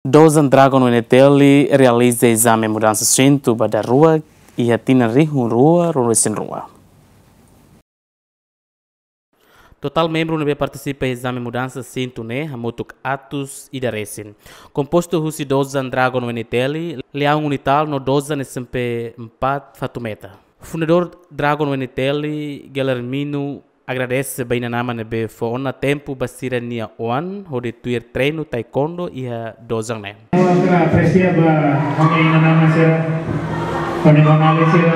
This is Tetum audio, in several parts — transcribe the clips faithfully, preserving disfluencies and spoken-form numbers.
Dozan Dragon U N T L realiza ezame mudansa sintu ba daruak iha tinan rihun rua ruanulu-resin-rua. Totál membru ne'ebé partisipa iha ezame mudansa sintu ne'e hamutuk atus ida resin. Kompostu husi dozan Dragon U N T L, Leão Unital no dozan S M P empat Fatumeta. Fundadór Dragon U N T L, Guilhermino, agradese ba inan-aman ne'ebé fó ona tempu ba sira-nia oan hodi tuir treinu taekwondo iha dozan ne'e. Ha'u apresia ba ha'u-nia inan-aman sira, ha'u-nia oan-alin sira,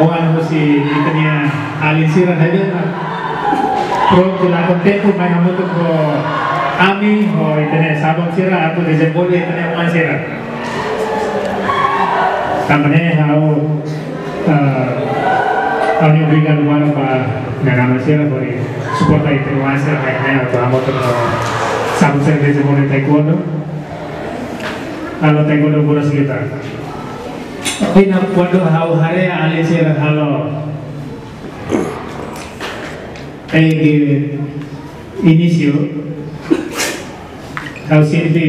oan husi ita-nia alin sira ne'ebé prontu lakon tempu mai hamutuk ho ami, ho ita-nia saban sira, atu dezenvolve ita-nia oan sira. Tanba ne'e ha'u, eh, ha'u-nia obrigadu barak ba inan-aman sira hodi suporta ita-nia oan sira mai ne'e atu hamutuk ho saban sira dezenvolve taekwondo. Halo taekwondo bola sekitar. Ina kuandu ha'u haree alin sira halo iha inísiu, ha'u sente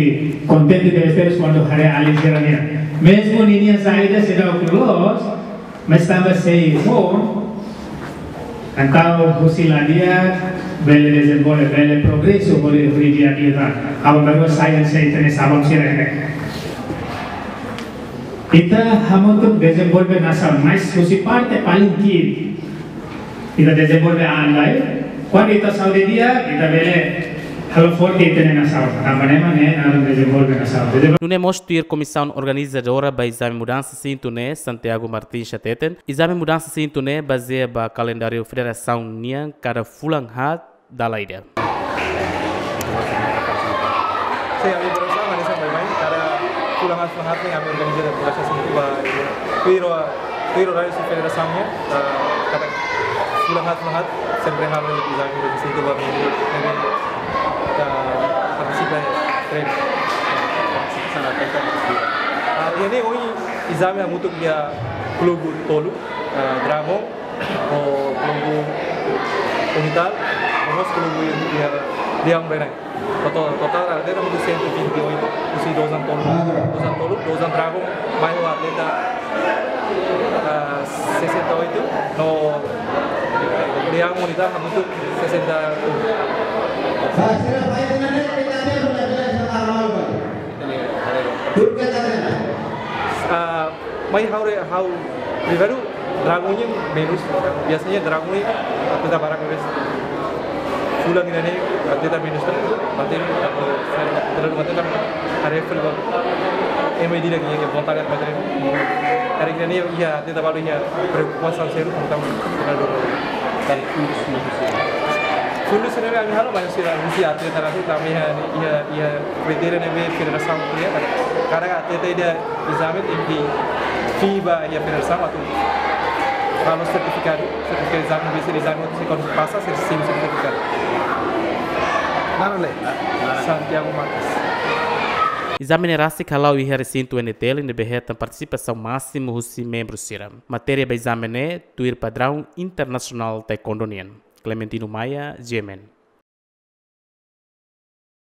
kontente tebes kuandu haree alin sira-nian. Mezmu ninia saida seidauk loos, mas tanba sei ho, entaun husi la di'ak bele dezenvolve, bele progresu hodi, hodi di'ak liután. Aban bainhira sai, sai ita-nia saban sira ne'e. Ita hamutuk dezenvolve nasaun, mas husi parte paling ki'ik ita dezenvolve an lai. Kuandu ita saúde di'ak, ita bele halo forte ita-nia nasaun. Tanba ne'e mak ne'e naran dezenvolve nasaun. Dezenvolve. Nune'e mós tuir komisaun organizadora ba ezame mudansa sintu ne'e, Santiago Martins hateten, ezame mudansa sintu ne'e bazeia ba kalendáriu federasaun nian kada fulan haat dala ida. Sin, ami programa hanesan baibain, kada fulan haat, fulan haat ne'e ami organiza programa sintu ba, tuir, tuir oráriu husi federasaun nian, ah, kada fulan haat, fulan haat, sempre halo ezame mudansa sintu ba membru, ne'ebé, ah, partisipa iha treinu. Ah, iha ne'e ohin ezame hamutuk iha klubu tolu, ah, Dragon, ho klubu Unital, ho mós klubu iha Leão Beirang. Totál, totál atleta hamutuk cento e vinte e oito, husi dozan tolu, dozan tolu, dozan Dragon, mai ho atleta, ah, sessenta e oito, no Leão Unital hamutuk sessenta e um. Ah, mai ha'u re-, ha'u pribadi, Dragon nian menus. Biasanya Dragon nian atleta barak, mas fulan ida-ne'e atleta menus tan. Berarti aku terlalu mati tan. Hari full bal. Ema ida-idak nia vontade atu bá treinu. Hari ida-ne'e iha atleta balu iha preokupasaun sériu tentang treinadór. Dari fundus, fundus. Fundus ne'ebé ami halo, maibé sira husi atleta atu tanba iha, iha, iha kritéria ne'ebé federasaun kria, kada atleta ida ezame tenke fila ba iha federasaun atu halo sertifikadu, sertifikadu ezame, ne'ebé sira ezame atu se kuandu pasa, sira simu sertifikadu. Naran le? Santiago Marques. Ezame ne'e rasik hala'o iha resintu U N T L ne'ebé hetan partisipasaun másimu husi membru sira. Matéria ba ezame ne'e tuir padraun internasionál taekwondo nian. Clementino Maia, G M N.